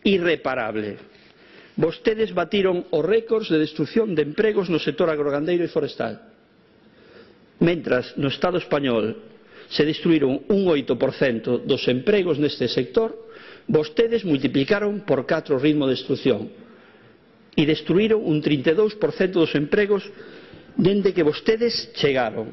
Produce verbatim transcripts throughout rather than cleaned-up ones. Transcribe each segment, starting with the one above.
irreparable. Vostedes batiron os récords de destrucción de empregos no sector agrogandeiro e forestal. Mentras no Estado español se destruíron un oito por cento dos empregos neste sector, vostedes multiplicaron por catro o ritmo de destrucción e destruíron un trinta e dous por cento dos empregos dende que vostedes chegaron.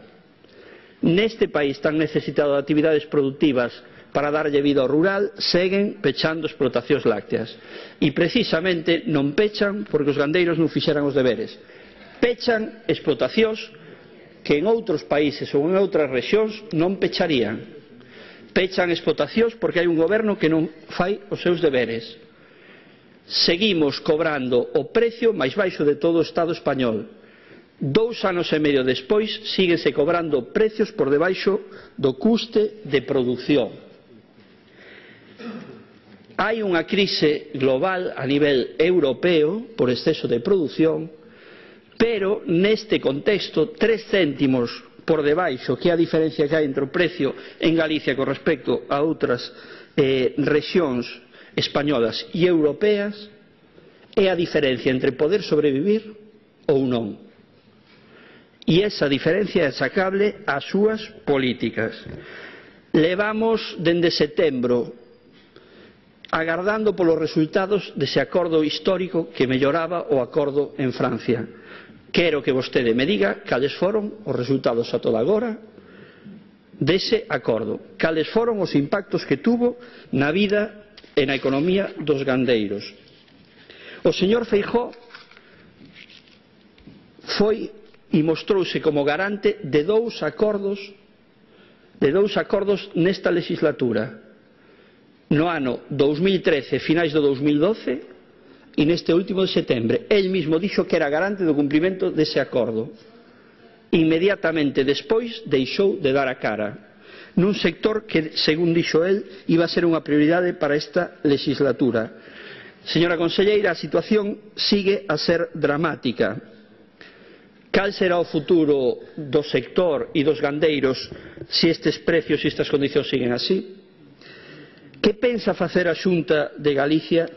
Neste país tan necesitado de actividades productivas para darlle vida ao rural, seguen pechando explotacións lácteas. E precisamente non pechan porque os gandeiros non fixeran os deberes. Pechan explotacións que en outros países ou en outras rexións non pecharían. Pechan explotacións porque hai un goberno que non fai os seus deberes. Seguimos cobrando o precio máis baixo de todo o Estado español. Dous anos e medio despois síguese cobrando precios por debaixo do custe de produción. Hai unha crise global a nivel europeo por exceso de produción, pero neste contexto tres céntimos por debaixo, que é a diferencia que hai entre o precio en Galicia con respecto a outras eh, rexións españolas e europeas, é a diferencia entre poder sobrevivir ou non. E esa diferencia é achacable ás súas políticas. Levamos dende setembro agardando polos resultados dese acordo histórico que melloraba o acordo en Francia. Quero que vostede me diga cales foron os resultados a toda agora dese acordo, cales foron os impactos que tuvo na vida e na economía dos gandeiros. O señor Feijóo foi e mostrouse como garante de dous acordos de dous acordos nesta legislatura, no ano dous mil trece, finais do dous mil doce, e neste último de setembro. El mismo dixo que era garante do cumprimento dese acordo. Inmediatamente despois deixou de dar a cara nun sector que, según dixo el, iba a ser unha prioridade para esta legislatura. Señora conselleira, a situación sigue a ser dramática. Cal será o futuro do sector e dos gandeiros se estes precios e estas condicións siguen así? Que pensa facer a Xunta de Galicia?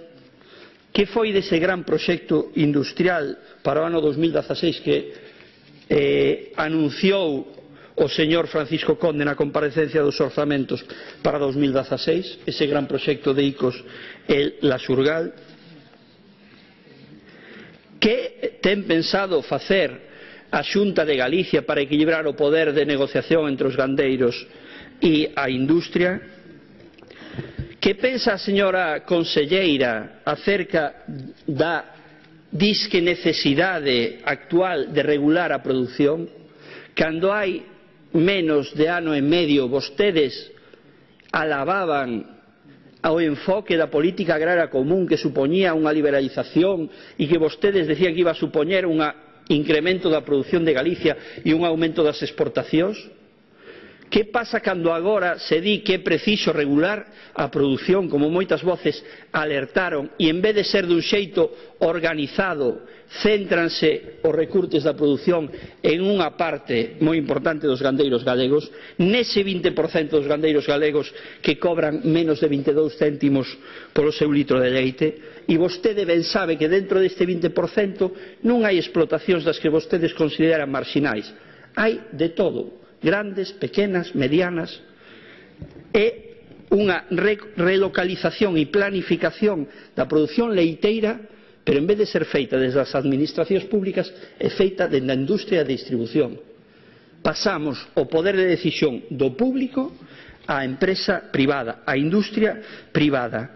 Que foi dese gran proxecto industrial para o ano dos mil dezaseis que eh, anunciou o señor Francisco Conde na comparecencia dos orzamentos para dos mil dezaseis, ese gran proxecto de Icos e La Surgal? Que ten pensado facer a Xunta de Galicia para equilibrar o poder de negociación entre os gandeiros e a industria? Que pensa a señora conselleira acerca da disque necesidade actual de regular a produción? Cando hai menos de ano e medio vostedes alababan ao enfoque da política agraria común que supoñía unha liberalización e que vostedes decían que iba a supoñer un incremento da produción de Galicia e un aumento das exportacións? Que pasa cando agora se di que é preciso regular a produción, como moitas voces alertaron, e en vez de ser dun xeito organizado, céntranse os recurtes da produción en unha parte moi importante dos gandeiros galegos, nese vinte por cento dos gandeiros galegos que cobran menos de vinte e dous céntimos polo seu litro de leite, e vostede ben sabe que dentro deste vinte por cento non hai explotacións das que vostedes consideran marxinais, hai de todo, grandes, pequenas, medianas, e unha relocalización e planificación da produción leiteira, pero en vez de ser feita desde as administracións públicas, é feita desde a industria de distribución. Pasamos o poder de decisión do público á empresa privada, á industria privada.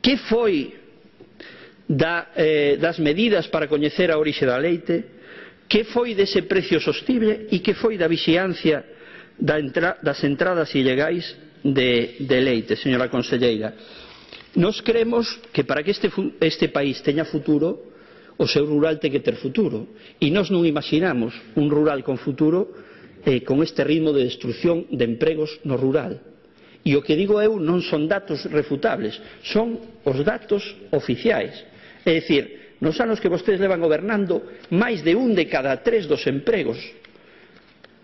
Que foi da, eh, das medidas para coñecer a orixe da leite? Que foi dese precio sostible e que foi da vixiancia da entra, das entradas ilegais de, de leite, señora conselleira? Nos creemos que para que este, este país teña futuro, o seu rural ten que ter futuro, e nós non imaginamos un rural con futuro eh, con este ritmo de destrucción de empregos no rural. E o que digo eu non son datos refutables, son os datos oficiais. É dicir, nos anos que vostedes levan gobernando, máis de un de cada tres dos empregos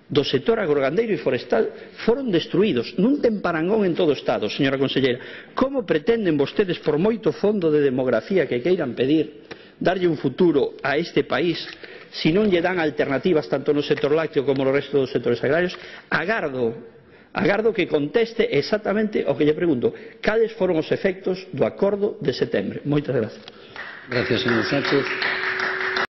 do sector agrogandeiro e forestal foron destruídos nun temparangón en todo o Estado. Señora conselleira, como pretenden vostedes, por moito fondo de demografía que queiran pedir, darlle un futuro a este país se non lle dan alternativas tanto no sector lácteo como no resto dos sectores agrarios? Agardo, agardo que conteste exactamente o que lle pregunto: cales foron os efectos do acordo de setembro? Moitas gracias. Gracias, señor Sánchez.